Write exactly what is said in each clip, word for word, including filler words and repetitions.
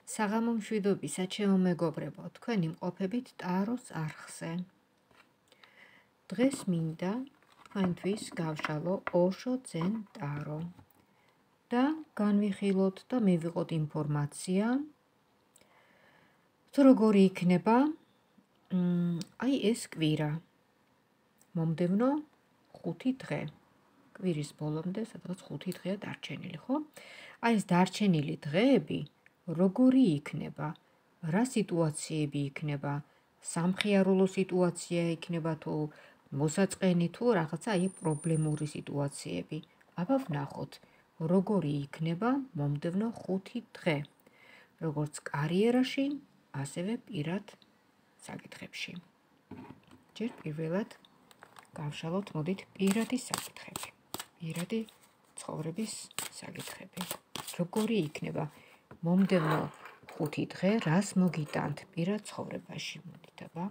საღამო მშვიდობისა, ჩემო მეგობრებო, თქვენ იმყოფებით ტაროს არხზე. დღეს მინდა თქვენთვის გავშალო ოშო ძენ ტარო და განვიხილოთ და მივიღოთ ინფორმაცია, თუ როგორი იქნება აი ეს კვირა, მომდევნო ხუთი დღე. კვირის ბოლომდე სადღაც ხუთი დღეა დარჩენილი, ხო? აი ეს დარჩენილი დღეები როგორი იქნება, რა სიტუაციები იქნება, სამხიარულო სიტუაცია იქნება თუ მოსაწყენი თუ რაღაცა აი პრობლემური სიტუაციები. აბა ვნახოთ, როგორი იქნება მომდევნო ხუთი დღე, როგორც კარიერაში, ასევე პირად საკითხებში. ჯერ პირველად გავშალოთ, მოდით, პირადი საკითხები. პირადი ცხოვრების საკითხები. როგორი იქნება მომდევნო ხუთი დღე, რას მოგიტანთ პირად ცხოვრებაში, მოდით, აბა,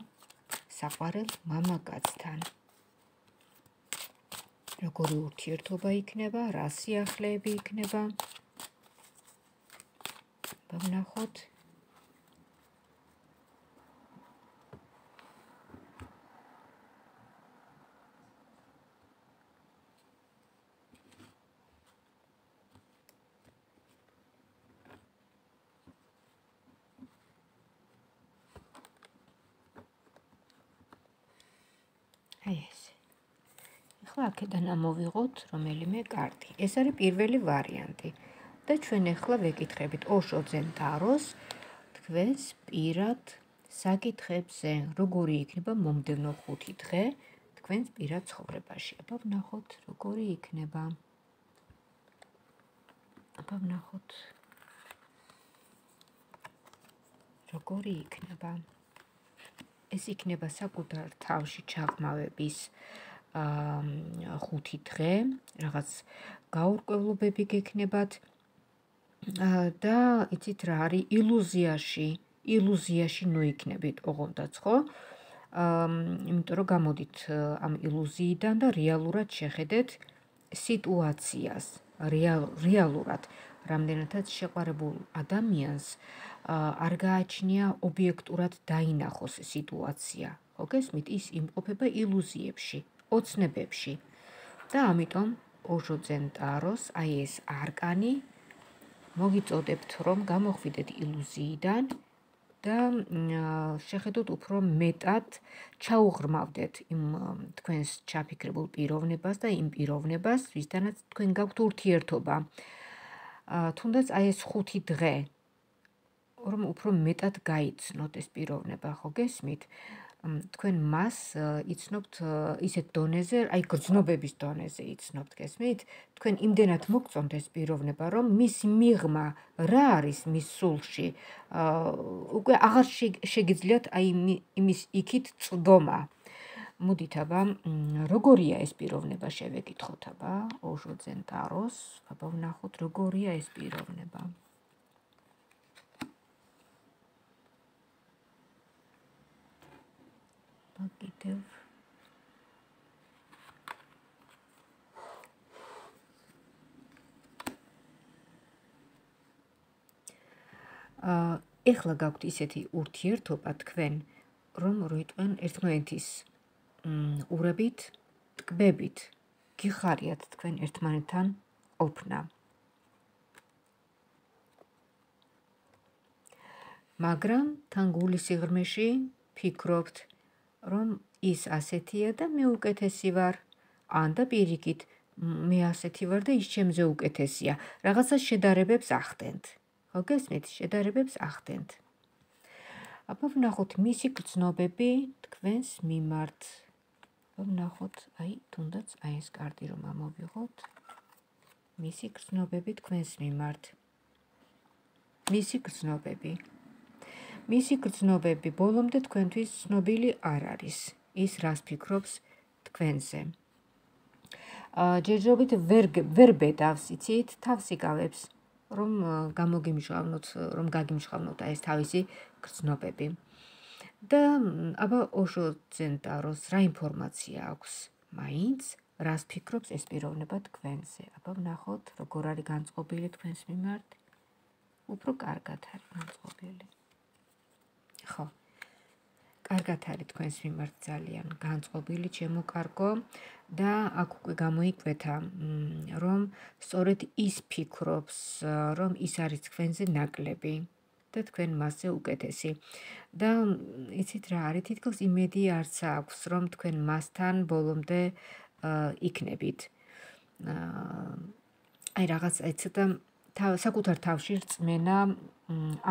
საყვარელ მამაკაცთან. როგორი ურთიერთობა იქნება, რა სიახლეები იქნება. აბა ვნახოთ. აი ეს. ახლა აქედან ამოვიღოთ რომელიმე კარტი. ეს არის პირველი ვარიანტი. და ჩვენ ახლა ვეკითხებით ოშო ძენ ტაროს თქვენს პირად საკითხებზე, როგორი იქნება მომდევნო ხუთი დღე თქვენს პირად ცხოვრებაში. აბა ვნახოთ, როგორი იქნება. აბა ვნახოთ. როგორი იქნება. ეს იქნება საკუთარ თავში ჩაღმავების ხუთი დღე, რაღაც გაურკვევლობები გექნებათ და იცით რა არის, ილუზიაში, ილუზიაში ნოიქნებით ოღონდაც, ხო? იმიტომ რომ გამოდით ამ ილუზიიდან და რეალურად შეხედეთ სიტუაციას, რეალურად, რამდენადაც შეყვარებულ ადამიანს არ გააჩნია ობიექტურად დაინახოს სიტუაცია. ხო გესმით, ის იმყოფება ილუზიებში, ოცნებებში. და ამიტომ ოშო ძენ ტაროს აი ეს არკანი მოგიწოდებთ, რომ გამოხვიდეთ ილუზიიდან და შეხედოთ უფრო მეტად, ჩაუღრმავდეთ იმ თქვენს ჩაფიქრებულ პიროვნებას და იმ პიროვნებას, ვისთანაც თქვენ გაქვთ ურთიერთობა. თუნდაც აი ეს ხუთი დღე, რომ უფრო მეტად გაიცნოთ ეს პიროვნება, ხო გესმით? თქვენ მას იცნობთ ისეთ დონეზე, აი გრძნობების დონეზე იცნობთ, გესმით? თქვენ იმდენად მოგწონთ ეს პიროვნება, რომ მისი მიღმა რა არის მის სულში, უკვე აღარ შეგიძლიათ აი იმის იქით წვდომა. მოდით, აბა, როგორია ეს პიროვნება, შევეკითხოთ, აბა, ოშო ძენ ტაროს, აბა ვნახოთ, როგორია ეს პიროვნება. კიდევ ეხლა გაქვთ ისეთი ურთიერთობა თქვენ, რომ როიტყვენ ერთმანეთის ურებით, ტკბებით, გიხარიათ თქვენ ერთმანეთთან ყოფნა. მაგრამ თან გულის სიღრმეში ფიქრობთ, რომ ის ასეთია და მე უკეთესი ვარ, ან და პირიქით, მე ასეთი ვარ და ის ჩემზე უკეთესია. რაღაცა შედარებებს ახდენთ. ხო გესმით, შედარებებს ახდენთ. აბა ვნახოთ მისი გრძნობები თქვენს მიმართ. აბა ვნახოთ, აი, თუნდაც აი ეს კარტი რომ ამოვიღოთ. მისი გრძნობები თქვენს მიმართ. მისი გრძნობები. მისი გრძნობები ბოლომდე თქვენთვის ცნობილი არ არის. ის რას ფიქრობს თქვენზე. ჯერჯერობით ვერ ბედავს, იცით, თავს იკავებს, რომ გამოგიმჟღავნოთ, რომ გაგიმჟღავნოთ ეს თავისი გრძნობები. და აბა ოშო ძენ ტაროს რა ინფორმაცია აქვს მაინც, რას ფიქრობს ეს პიროვნება თქვენზე. აბა ვნახოთ, როგორ არის განწყობილი თქვენს მიმართ. უფრო კარგად არის განწყობილი. ხო. კარგად არის თქვენს მიმართ ძალიან განწყობილი ჩემო კარგო და აქ უკვე გამოიკვეთა, რომ სწორედ ის ფიქრობს, რომ ის არის თქვენზე ნაკლები და თქვენ მასზე უკეთესი. და იცით რა არის, თითქოს იმედი არც აქვს, რომ თქვენ მასთან ბოლომდე იქნებით. აი რაღაც აი ცოტა საკუთარ თავში რწმენა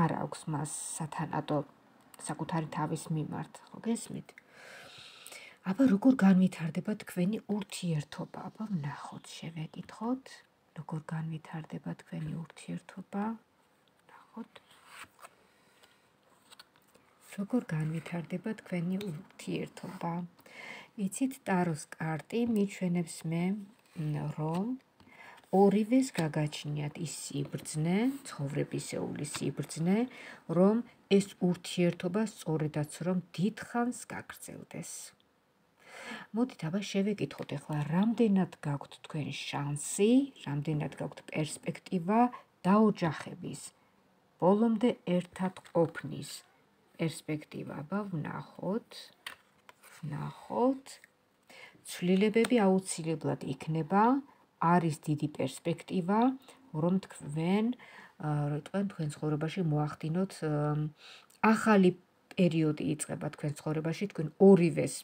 არ აქვს მას სათანადო საკუთარი თავის მიმართ, ხო გესმით? აბა როგორ განვითარდება თქვენი ურთიერთობა? აბა ვნახოთ, შევეკითხოთ, როგორ განვითარდება თქვენი ურთიერთობა? ვნახოთ. როგორ განვითარდება თქვენი ურთიერთობა? იცით, ტაროს კარტი მიჩვენებს მე, რომ ორივეს გაგაჩნიათ ის სიბრძნე, ცხოვრებისეული სიბრძნე, რომ ეს ურთიერთობა სწორედაც რომ დიდხანს გაგრძელდეს. მოდით აბა შევეკითხოთ ახლა, რამდენად გაქვთ თქვენ შანსი, რამდენად გაქვთ პერსპექტივა დაოჯახების, ბოლომდე ერთად ყოფნის პერსპექტივა. აბა ვნახოთ, ვნახოთ. ცვლილებები აუცილებლად იქნება, არის დიდი პერსპექტივა, რომ თქვენ, თქვენ თქვენ ცხოვრებაში მოახდინოთ ახალი პერიოდი იწყება თქვენ ცხოვრებაში, თქვენ ორივეს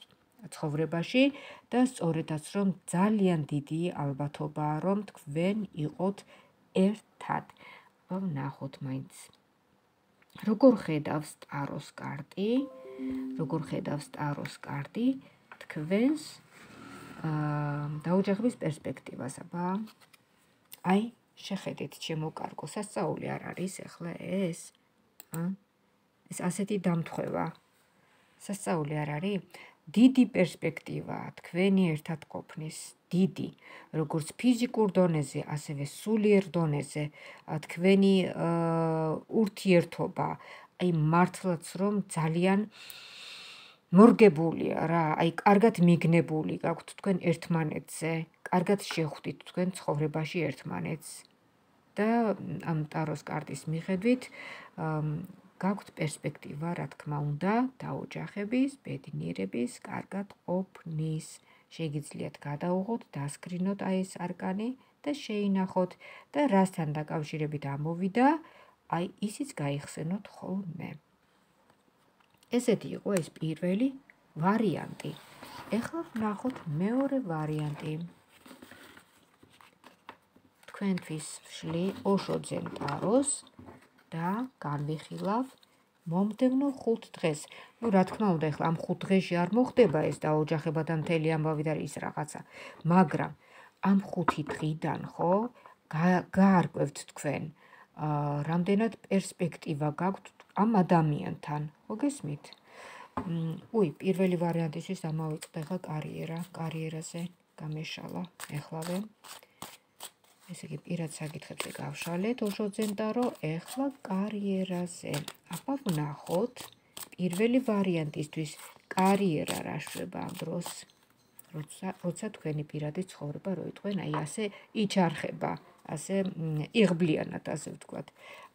ცხოვრებაში და სწორედაც რომ ძალიან დიდი ალბათობაა, რომ თქვენ იყოთ ერთად. აბა ვნახოთ მაინც. როგორ ხედავს ტაროს კარტი? როგორ ხედავს ტაროს კარტი თქვენს დაოჯახების პერსპექტივას? აბა აი შეხედეთ ჩემო კარგო, სასწაული არ არის ახლა ეს? ეს ასეთი დამთხევა სასწაული არ არის? დიდი პერსპექტივაა თქვენი ერთად ყოფნის, დიდი, როგორც ფიზიკურ დონეზე, ასევე სულიერ დონეზე, თქვენი ურთიერთობა, აი მართლაც რომ ძალიან მორგებულია რა, აი კარგად მიგნებული გაქვთ თქვენ ერთმანეთზე, კარგად შეხვდით თქვენ ცხოვრებაში ერთმანეთს და ამ ტაროს კარტის მიხედვით გაქვთ პერსპექტივა, რა თქმა უნდა, დაოჯახების, ბედნიერების, კარგად ყოფნის. შეგიძლიათ გადაუღოთ, დასკრინოთ აი ეს არკანი და შეინახოთ და რასთან დაკავშირებით ამოვიდა, აი ისიც გაიხსენოთ ხოლმე. ესეთი იყო ეს პირველი ვარიანტი. ეხლა ვნახოთ მეორე ვარიანტი. თქვენთვის ვშლი ოშოძენ ტაროს და განვიხილავ მომდევნო ხუთ დღეს. ნუ რა თქმა უნდა, ეხლა ამ ხუთ დღეში არ მოხდება ეს დაოჯახება და მთელი ამბავი და ის რაღაცა, მაგრამ ამ ხუთი დღიდან ხო გაარკვევთ თქვენ, რამდენად პერსპექტივა გაქვთ ამ ადამიანთან, ხო გესმით? უი, პირველი ვარიანტისთვის ამოვიწყდა ახლა კარიერა, კარიერაზე გამეშალა ეხლავე. ესე იგი პირად საკითხებზე გავშალეთ ოშოძენ ტარო, ეხლა კარიერაზე. აბა ვნახოთ, პირველი ვარიანტისთვის კარიერა რა შვება ამ დროს, როცა თქვენი პირადი ცხოვრება როიტყვენ აი ასე იჩარხება, ასე იღბლიანად, ასე ვთქვათ.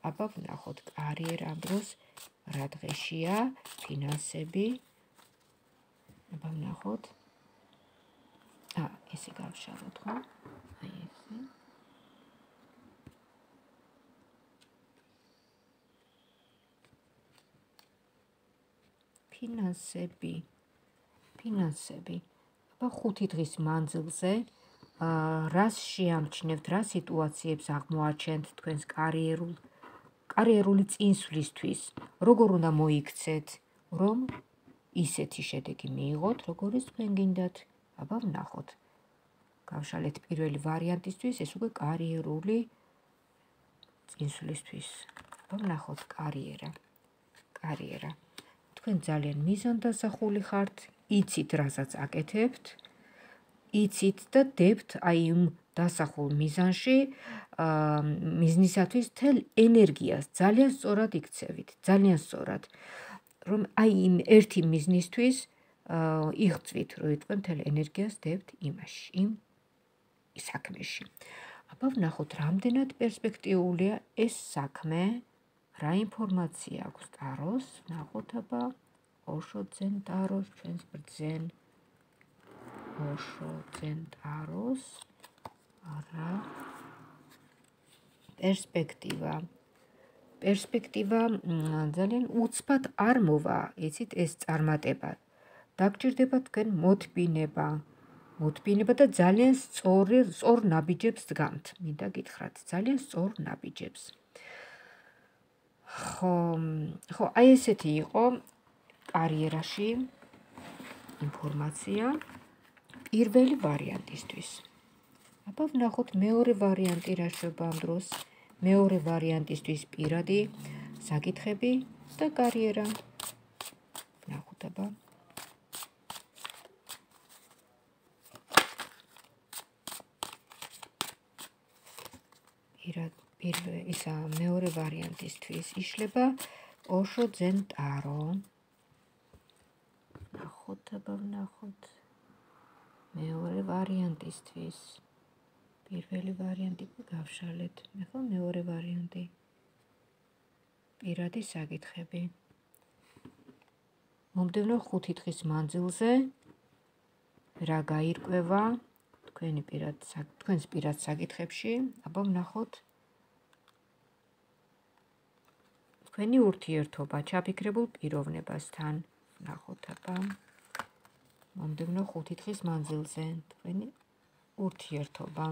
აბა ვნახოთ, კარიერა ამ დროს რა დღეშია, ფინანსები. აბა ვნახოთ. ა, ესე გავშალოთ, ხო? აი ესე. ფინანსები, ფინანსები. აბა ხუთი დღის მანძილზე რას შეამჩნევთ, რა სიტუაციებს აღმოაჩენთ თქვენს კარიერულ კარიერული წინსვლისთვის, როგორ უნდა მოიქცეთ, რომ ისეთი შედეგი მიიღოთ, როგორიც თქვენ გინდათ. აბა ვნახოთ. გავშალეთ პირველი ვარიანტისთვის, ეს უკვე კარიერული წინსვლისთვის. აბა ვნახოთ კარიერა. კარიერა. თქვენ ძალიან მიზანდასახული ხართ, იცით რასაც აკეთებთ, იცით და დებთ აი იმ დასახულ მიზანში, მიზნისათვის თელ ენერგიას ძალიან სწორად იქცევით, ძალიან სწორად, რომ აი იმ ერთი მიზნისთვის იღწვით, რომ თქვენ თელ ენერგიას დებთ იმაში, იმ საქმეში. აბა ვნახოთ, რამდენად პერსპექტიულია ეს საქმე რა ინფორმაცია აქვს ტაროს? ნახოთ აბა ოშო ძენ ტაროს, ჩვენს ბრძენ ოშო ძენ ტაროს რა პერსპექტივა. პერსპექტივა ძალიან უცბად არ მოვა, იცით ეს წარმატება. დაგჭირდება თქვენ მოთბინება. მოთბინება და ძალიან სწორ სწორ ნაბიჯებს დგამთ. მინდა გითხრათ, ძალიან სწორ ნაბიჯებს. ხო, ხო, აი ესეთი იყო კარიერაში ინფორმაცია პირველი ვარიანტისთვის. აბა ვნახოთ მეორე ვარიანტი რა შეება ამ დროს. მეორე ვარიანტისთვის პირადი საკითხები და კარიერა. ვნახოთ აბა. პირველ ისა მეორე ვარიანტისთვის იშლება ოშო ძენ ტარო. ვნახოთ აბა ვნახოთ. მეორე ვარიანტისთვის. პირველი ვარიანტი გავშალეთ. მე ხო მეორე ვარიანტი. პირადი საკითხები. მომდევნო ხუთი დღის მანძილზე რა გაირკვევა თქვენი პირად თქვენს პირად საკითხებში? აბა ვნახოთ. თქვენი ურთიერთობა ჩაფიქრებულ პიროვნებასთან. ვნახოთ აბა. მომდევნო ხუთი დღის მანძილზე თქვენი ურთიერთობა.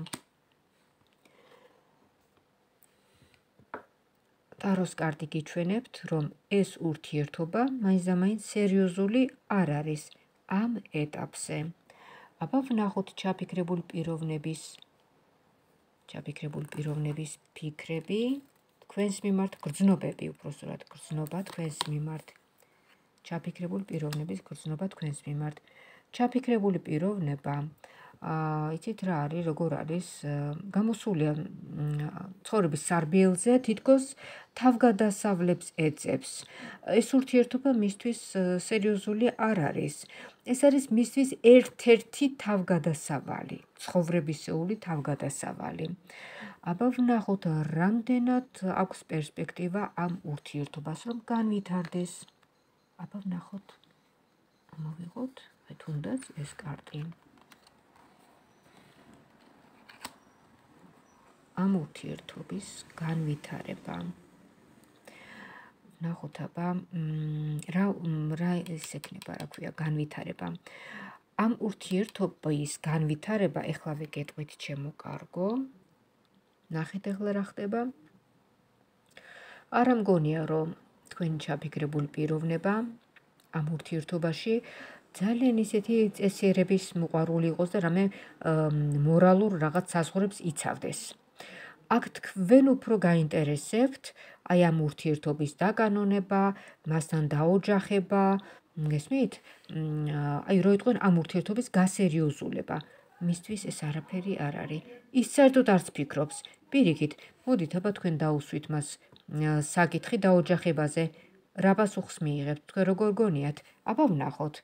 ტაროს კარტი გიჩვენებთ, რომ ეს ურთიერთობა მაინცდამაინც სერიოზული არ არის ამ ეტაპზე. აბა ვნახოთ ჩაფიქრებული პიროვნების ჩაფიქრებული პიროვნების ფიქრები თქვენს მიმართ, გრძნობები უпроსტად გრძნობა თქვენს მიმართ. ჩაფიქრებული პიროვნების გრძნობა თქვენს მიმართ. ჩაფიქრებული პიროვნება იცით რა არის, როგორ არის, გამოსულია ცხოვრების სარბიელზე, თითქოს თავგადასავლებს ეძებს. ეს ურთიერთობა მისთვის სერიოზული არ არის. ეს არის მისთვის ერთ-ერთი თავგადასავალი, ცხოვრებისეული თავგადასავალი. აბა ვნახოთ, რამდენად აქვს პერსპექტივა ამ ურთიერთობას, რომ განვითარდეს. აბა ვნახოთ. მოვიღოთ, აი თუნდაც ეს კარტი. ამ ურთიერთობის განვითარება. ვნახოთ აბა რა რა ეს ექნება, რა ქვია, განვითარება. ამ ურთიერთობის განვითარება ეხლავე გეტყვით ჩემო კარგო. ნახეთ ახლა რა ხდება. არა მგონია, რომ თქვენი ჩაფიქრებული პიროვნება ამ ურთიერთობაში ძალიან ისეთი წესიერების მოყვარული იყოს და რამე მორალურ რაღაც საზღვრებს იცავდეს. აქ თქვენ უფრო გაინტერესებთ აი ამ ურთიერთობის დაკანონება, მასთან დაოჯახება, გესმით? აი რო იტყვენ ამ ურთიერთობის გასერიოზულება. მისთვის ეს არაფერი არ არის. ის საერთოდ არც ფიქრობს. პირიქით, მოდით აბა თქვენ დაუსვით მას საკითხი დაოჯახებაზე. რა პასუხს მიიღებთ? თქვენ როგორ გონიათ? აბა ვნახოთ.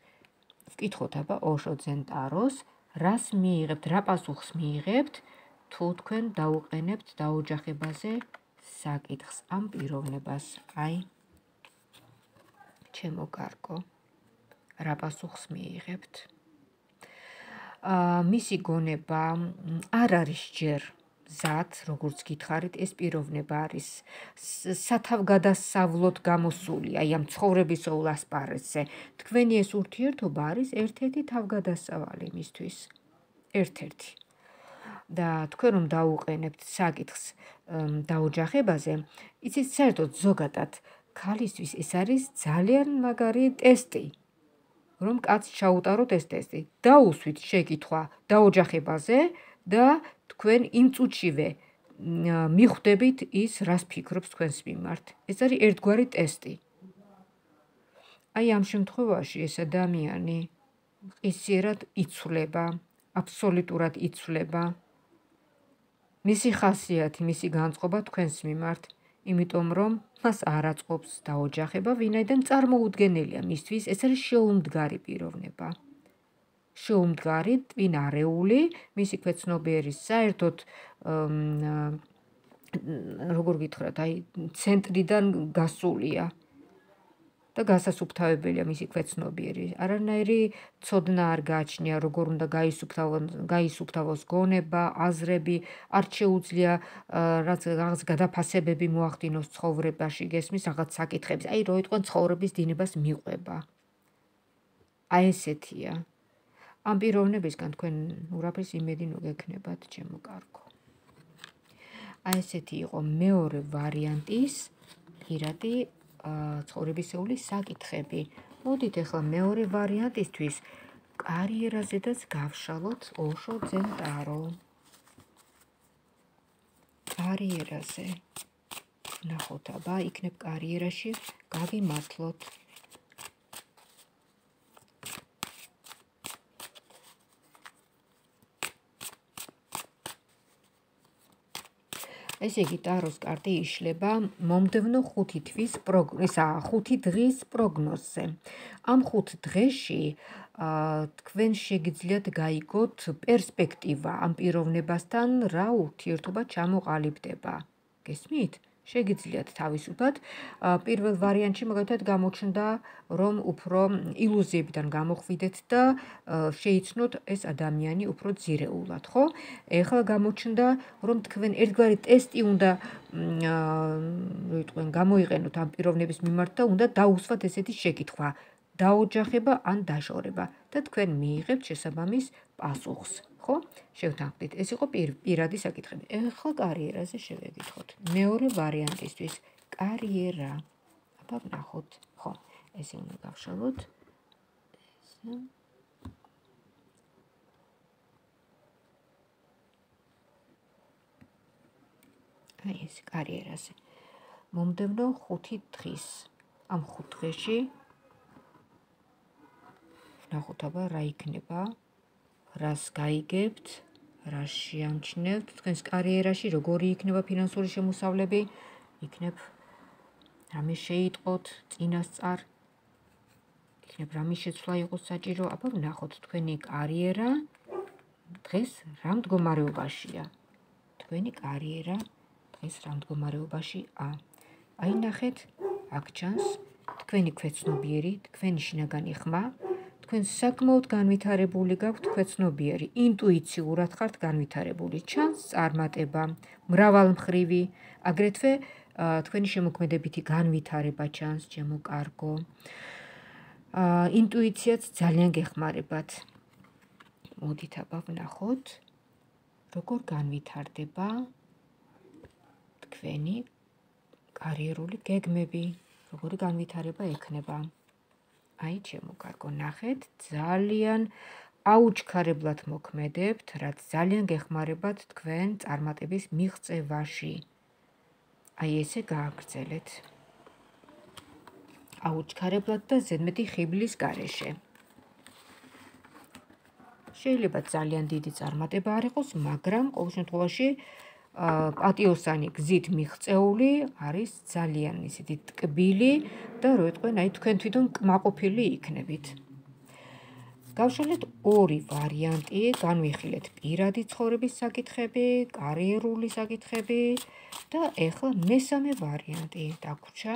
ვკითხოთ აბა ოშო ძენ ტაროს, რას მიიღებთ, რა პასუხს მიიღებთ, თუ თქვენ დაუყენებთ დაოჯახებაზე საკითხს ამ პიროვნებას. აი, ჩემო კარგო, რა პასუხს მიიღებთ? მისი გონება არ არის ჯერ მზად, როგორც გითხარით, ეს პიროვნება არის სათავგადასავლოდ გამოსული, აი ამ ცხოვრებისეულ ასპარეზზე. თქვენი ეს ურთიერთობა არის ერთ-ერთი თავგადასავალი მისთვის. ერთ-ერთი. და თქვენ რომ დაუყენებთ საკითხს დაოჯახებაზე, იცით, საერთოდ ზოგადად ქალისთვის ეს არის ძალიან მაგარი ტესტი. რომ კაცს ჩაუტაროთ ეს ტესტი. დაუსვით შეკითხვა დაოჯახებაზე და თქვენ იმ წუთშივე მიხვდებით ის, რას ფიქრობს თქვენს მიმართ. ეს არის ერთგვარი ტესტი. აი ამ შემთხვევაში ეს ადამიანი ყისიერად იცვლება, აბსოლუტურად იცვლება. მისი ხასიათი, მისი განწყობა თქვენს მიმართ, იმიტომ რომ მას არ აწყობს დაოჯახება, ვინაიდან წარმოუდგენელია მისთვის, ეს არის შეუმდგარი პიროვნება. შეუმდგარი, ტვინარეული, მისი ქვეცნობიერის საერთოდ როგორ გითხრათ, აი ცენტრიდან გასულია და გასასუფთავებელია მისი ქვეცნობიერი. არანაირი ცოდნა არ გააჩნია, როგორ უნდა გაისუფთავოს გონება, აზრები, არ შეუძლია რაც რაღაც გადაფასებები მოახდინოს ცხოვრებაში, გესმის რაღაც საკითხებს. აი რო იტყვენ ცხოვრების დინებას მიყვება. აი ესეთია. ამ პიროვნებისგან თქვენ ურაფრის იმედი ნუგექნებათ, ჩემო კარგო. აი ესეთი იყო მეორე ვარიანტის პირადი ცხოვრებისეული საკითხები. მოდით ახლა მეორე ვარიანტისთვის კარიერაზედაც გავშალოთ ოშო ძენტარო. კარიერაზე. ნახოთ, აბა, იქნებ კარიერაში გაგიმართლოთ. ესე იგი, ტაროს კარტი იშლება მომდევნო ხუთი თვის ისა ხუთი დღის პროგნოზზე. ამ ხუთ დღეში თქვენ შეგიძლიათ გაიგოთ პერსპექტივა ამ პიროვნებასთან რა ურთიერთობა ჩამოყალიბდება. გესმით? შეგიძლიათ თავისუფლად პირველ ვარიანტში მაგალითად გამოჩნდა რომ უფრო ილუზიებიდან გამოხვიდეთ და შეიცნოთ ეს ადამიანი უფრო ძირეულად, ხო? ეხლა გამოჩნდა რომ თქვენ ერთგვარი ტესტი უნდა ვიტყვენ გამოიყენოთ ამ პიროვნების მიმართ და უნდა დაუსვათ ესეთი შეკითხვა: დაოჯახება ან დაშორება და თქვენ მიიღებთ შესაბამის პასუხს. ხო? შევთანხმდით. ეს იყო პირადი საკითხები. ეხლა კარიერაზე შევეკითხოთ. მეორე ვარიანტისთვის კარიერა. აბა ვნახოთ. ხო, ესე უნდა გავშალოთ. ესე. აი ეს კარიერაზე. მომდევნო ხუთი დღის. ამ ხუთ დღეში ვნახოთ, აბა რა იქნება. რას გაიგებთ, რას შეამჩნევთ თქვენს კარიერაში, როგორი იქნება ფინანსური შემოსავლები, იქნებ რამე შეიტყოთ წინასწარ, იქნებ რამე შეცვლა იყოს საჭირო, აბა ვნახოთ თქვენი კარიერა დღეს რა მდგომარეობაშია. თქვენი კარიერა დღეს რა მდგომარეობაშია. აი ნახეთ, აქ ჩანს თქვენი ქვეცნობიერი, თქვენი შინაგანი ხმა, თქვენ საკმაოდ განვითარებული გაქვთ ქვეცნობიერი, ინტუიციურად ხართ განვითარებული, ჩანს წარმატება, მრავალმხრივი, აგრეთვე თქვენი შემოქმედებითი განვითარება ჩანს, ჩემო კარგო. ინტუიციაც ძალიან გეხმარებათ. მოდით აბა ვნახოთ, როგორ განვითარდება თქვენი კარიერული გეგმები, როგორი განვითარება ექნება. აი, ჩემო კარგო, ნახეთ, ძალიან აუჩქარებლად მოქმედებთ, რაც ძალიან გეხმარებათ თქვენ წარმატების მიღწევაში. აი, ესე გააგრძელეთ. აუჩქარებლად და ზედმეტი ხიბლის გარეშე. შეიძლება ძალიან დიდი წარმატება არ იყოს, მაგრამ ყოველ შემთხვევაში პატიოსანი გზით მიღწეული არის ძალიან ისეთი ტკბილი და რო იტყვენ, აი თქვენ თვითონ კმაყოფილი იქნებით. გავშალეთ ორი ვარიანტი, განვიხილეთ პირადი ცხოვრების საკითხები, კარიერული საკითხები და ეხლა მესამე ვარიანტი დაგვრჩა.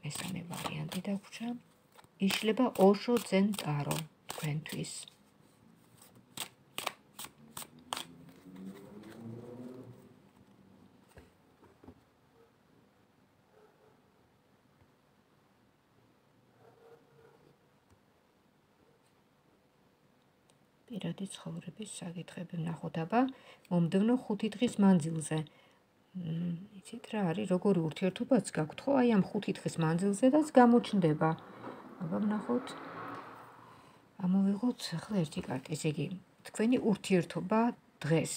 მესამე ვარიანტი დაგვრჩა. იშლება ოშო ძენტარო თქვენთვის. პირადი ცხოვრების საკითხები ვნახოთ, აბა მომდევნო ხუთი დღის მანძილზე. იცით რა არის, როგორი ურთიერთობაც გაქვთ, ხო? აი ამ ხუთი დღის მანძილზედაც გამოჩნდება. აბა ვნახოთ. ამოვიღოთ ახლა ერთი კარტი, ესე იგი, თქვენი ურთიერთობა დღეს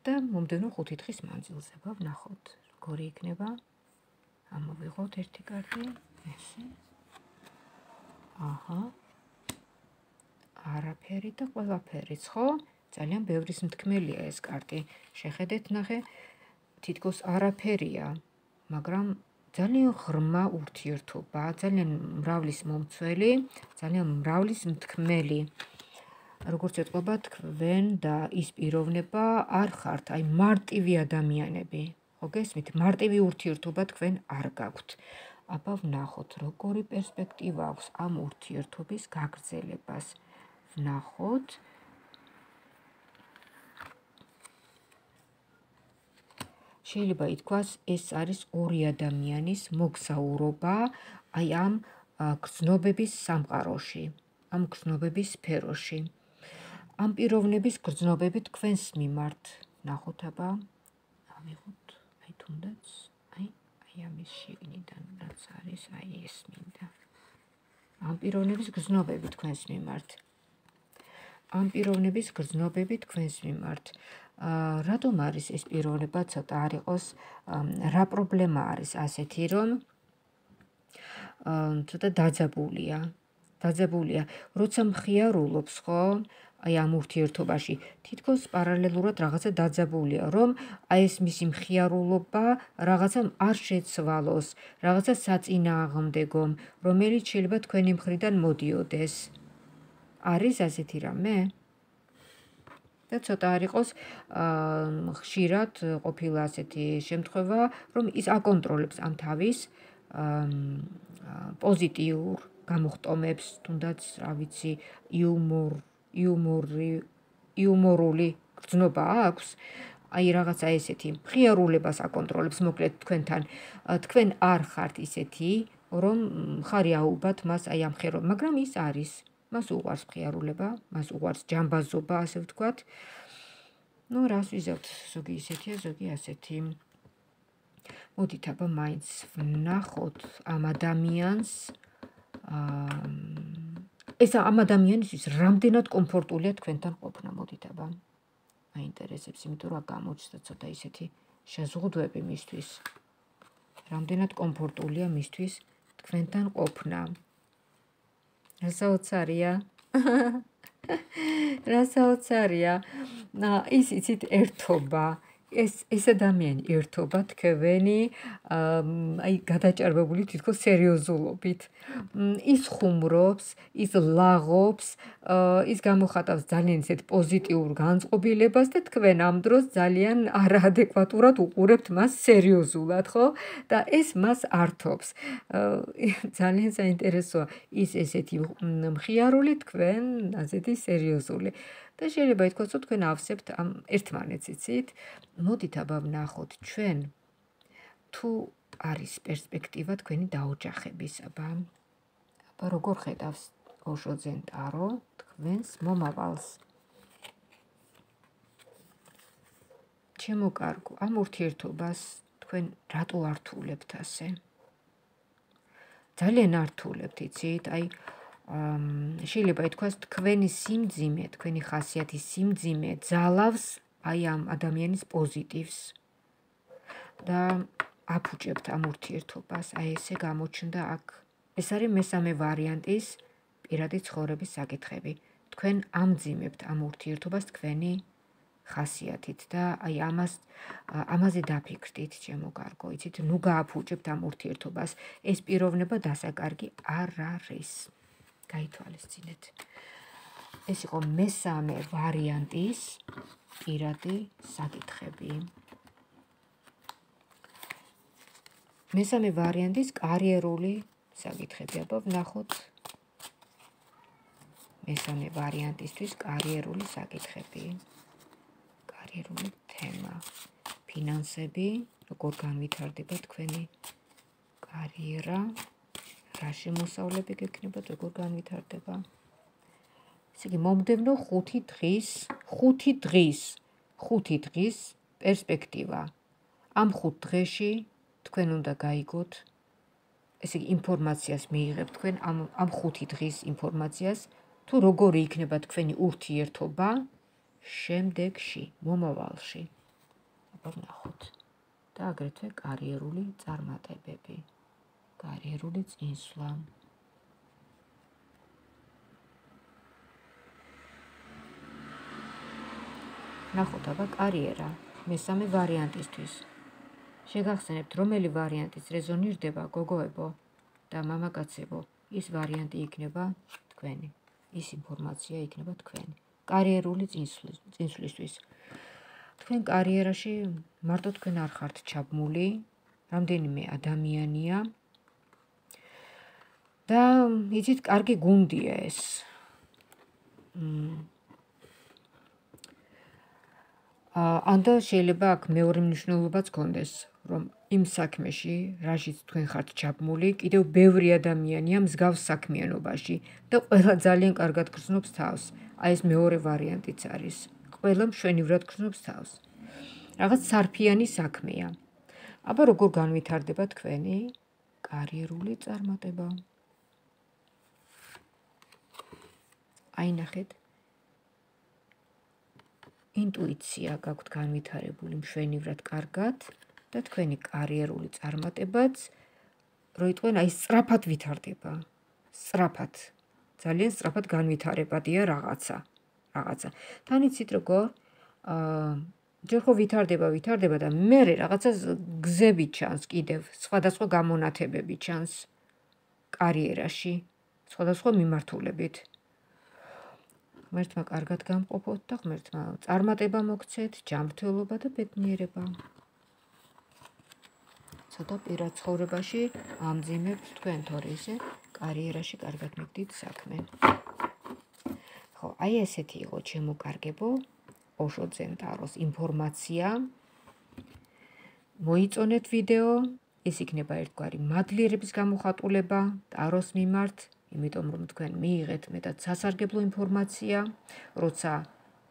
და მომდევნო ხუთი დღის მანძილზე. აბა ვნახოთ, როგორი იქნება. ამოვიღოთ ერთი კარტი, ესე. აჰა. არაფერი და ყველაფერიც, ხო? ძალიან ბევრის მთქმელია ეს კარტი. შეხედეთ, ნახე, თითქოს არაფერია, მაგრამ ძალიან ღრმა ურთიერთობა, ძალიან მრავლის მომცველი, ძალიან მრავლის მთქმელი. როგორც ეტყობა თქვენ და ის პიროვნება არ ხართ, აი მარტივი ადამიანები. ხო გესმით? მარტივი ურთიერთობა თქვენ არ გაქვთ. აბა ვნახოთ, როგორი პერსპექტივა აქვს ამ ურთიერთობის გაგრძელებას. ვნახოთ. შეიძლება ითქვას, ეს არის ორი ადამიანის მოგზაურობა აი ამ გრძნობების სამყაროში, ამ გრძნობების სფეროში. ამ პიროვნების გრძნობები თქვენს მიმართ. ნახოთ აბა, ავიღოთ, აი თუნდაც, აი, აი ამის შიგნიდან რაც არის, აი ეს მინდა. ამ პიროვნების გრძნობები თქვენს მიმართ. ამ პიროვნების გრძნობები თქვენს მიმართ. რატომ არის ეს პიროვნება ცოტა არ იყოს, რა პრობლემა არის ასეთი, რომ ცოტა დაძაბულია. დაძაბულია, როცა მხიარულობს, ხო? აი ამ ურთიერთობაში თითქოს პარალელურად რაღაცა დაძაბულია, რომ აი ეს მისი მხიარულობა რაღაცამ არ შეცვალოს, რაღაცა საწინააღმდეგომ, რომელიც შეიძლება თქვენი მხრიდან მოდიოდეს. არის ასეთი რამე? და ცოტა არ იყოს ხშირად ყოფილა ასეთი შემთხვევა, რომ ის აკონტროლებს ამ თავის პოზიტიურ გამოხტომებს, თუნდაც, რა ვიცი, იუმორ, იუმორი, იუმორული გრძნობა აქვს, აი რაღაცა ესეთი მხიარულებას აკონტროლებს, მოკლედ თქვენთან. თქვენ არ ხართ ისეთი, რომ ხარი აუბათ მას აი ამ ხერო, მაგრამ ის არის. მას უყვარს მხიარულება, მას უყვარს ჯამბაზობა, ასე ვთქვათ. ნუ რას ვიზავთ, ზოგი ისეთია, ზოგი ასეთი. მოდით აბა მაინც ვნახოთ ამ ადამიანს. ეს ამ ადამიანისთვის რამდენად კომფორტულია თქვენთან ყოფნა, მოდით აბა. მაინტერესებს, იმიტომ რომ გამოჩნდა ცოტა ისეთი შეზღუდვები მისთვის. რამდენად კომფორტულია მისთვის თქვენთან ყოფნა. რა საოცარია? რა საოცარია? ის იცით ერთობა. ეს ეს ადამიანი ერთობა თქვენი აი გადაჭარბებული თითქოს სერიოზულობით. ის ხუმრობს, ის ლაღობს, ის გამოხატავს ძალიან ისეთ პოზიტიურ განწყობილებას და თქვენ ამ დროს ძალიან არაადეკვატურად უყურებთ მას სერიოზულად, ხო? და ეს მას ართობს. ძალიან საინტერესოა ის ესეთი მხიარული, თქვენ ასეთი სერიოზული. და შეიძლება ითქვას, რომ თქვენ ავსებთ ამ ერთმანეთს, იცით? მოდით აბა ვნახოთ ჩვენ თუ არის პერსპექტივა თქვენი დაოჯახების, აბა. აბა როგორ ხედავს ოშოძენ ტარო თქვენს მომავალს? ჩემო კარგო, ამ ურთიერთობას თქვენ რატო ართულებთ ასე? ძალიან ართულებთ, იცით? აი შეიძლება ითქვას, თქვენი სიმძიმე, თქვენი ხასიათის სიმძიმე ძალავს აი ამ ადამიანის პოზიტივს და აფუჭებთ ამ ურთიერთობას. აი ესე გამოჩნდა აქ. ეს არის მესამე ვარიანტის პირადი ცხოვრების საკითხები. თქვენ ამძიმებთ ამ ურთიერთობას თქვენი ხასიათით და აი ამას ამაზე დაფიქრდით, ჩემო კარგო, იცით? ნუ გააფუჭებთ ამ ურთიერთობას. ეს პიროვნება დასაკარგი არ არის. გაითვალისწინეთ. ეს იყო მესამე ვარიანტის პირადი საკითხები. მესამე ვარიანტის კარიერული საკითხები. აბა ვნახოთ. მესამე ვარიანტისთვის კარიერული საკითხები. კარიერული თემა. ფინანსები, როგორ განვითარდება თქვენი კარიერა. რა შემოსავლები გექნებათ, როგორ განვითარდება. ესე იგი, მომდევნო ხუთი დღის, ხუთი დღის, ხუთი დღის პერსპექტივა. ამ ხუთ დღეში თქვენ უნდა გაიგოთ, ესე იგი, ინფორმაციას მიიღებთ თქვენ ამ ამ ხუთი დღის ინფორმაციას, თუ როგორი იქნება თქვენი ურთიერთობა შემდეგში, მომავალში. აბა ვნახოთ. და აგრეთვე კარიერული წარმატებები. კარიერული წინსვლა. ნახოთ აბა კარიერა მესამე ვარიანტისთვის. შეგახსენებთ, რომელი ვარიანტის რეზონირდება, გოგოებო და მამაკაცებო, ის ვარიანტი იქნება თქვენი. ის ინფორმაცია იქნება თქვენი. კარიერული წინსვლისთვის. თქვენ კარიერაში მარტო თქვენ არ ხართ ჩაბმული, რამდენიმე ადამიანია და იცით, კარგი გუნდია ეს. ანდა შეიძლება აქ მეორე მნიშვნელობაც გქონდეს, რომ იმ საქმეში, რაშიც თქვენ ხართ ჩაბმული, კიდევ ბევრი ადამიანია მსგავს საქმიანობაში და ყველა ძალიან კარგად გრძნობს თავს. აი ეს მეორე ვარიანტიც არის. ყველა მშვენივრად გრძნობს თავს. რაღაც სარფიანი საქმეა. აბა როგორ განვითარდება თქვენი კარიერული წარმატება? აი ნახეთ. ინტუიცია გაქვთ განვითარებული მშვენივრად კარგად და თქვენი კარიერული წარმატებაც რო იტყვენ აი სწრაფად ვითარდება. სწრაფად. ძალიან სწრაფად განვითარებადია რაღაცა. რაღაცა. თან იცით როგორ აა ჯერ ხო ვითარდება, ვითარდება და მერე რაღაცა გზები ჩანს კიდევ, სხვადასხვა გამონათებები ჩანს კარიერაში, სხვადასხვა მიმართულებით. ღმერთმა კარგად გამყოფოთ და ღმერთმა წარმატება მოგცეთ, ჯანმრთელობა და ბედნიერება. ცოტა პირად ცხოვრებაში ამძიმებთ თქვენ, თორე ისე კარიერაში კარგად მიგდით საქმე. ხო, აი ესეთი იყო ჩემო კარგებო, ოშო ძენტაროს ინფორმაცია. მოიწონეთ ვიდეო, ეს იქნება ერთგვარი მადლიერების გამოხატულება ტაროს მიმართ, იმიტომ რომ თქვენ მიიღეთ მეტად სასარგებლო ინფორმაცია, როცა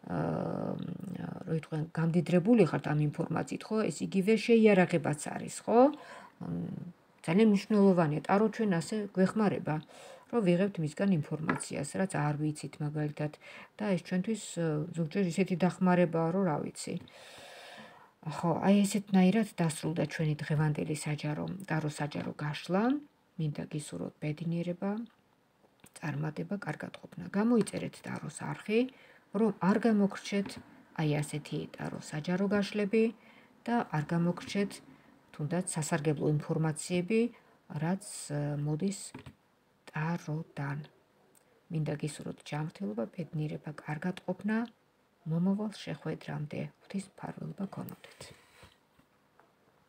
რო იტყვენ გამდიდრებული ხართ ამ ინფორმაციით, ხო, ეს იგივე შეიარაღებაც არის, ხო? ძალიან მნიშვნელოვანია, ტარო ჩვენ ასე გვეხმარება, რომ ვიღებთ მისგან ინფორმაციას, რაც არ ვიცით მაგალითად და ეს ჩვენთვის ზოგჯერ ისეთი დახმარებაა, რომ რა ვიცი. ხო, აი ესეთნაირად დასრულდა ჩვენი დღევანდელი საჯარო, ტარო საჯარო გაშლა, მინდა გისურვოთ ბედნიერება, წარმატება, კარგად ყოფნა. გამოიწერეთ ტაროს არხი, რომ არ გამოგრჩეთ აი ასეთი ტარო საჯარო გაშლები და არ გამოგრჩეთ თუნდაც სასარგებლო ინფორმაციები, რაც მოდის ტაროდან. მინდა გისურვოთ ჯანმრთელობა, ბედნიერება, კარგად ყოფნა, მომავალ შეხვედრამდე. ღვთის მფარველობა გქონოდეთ.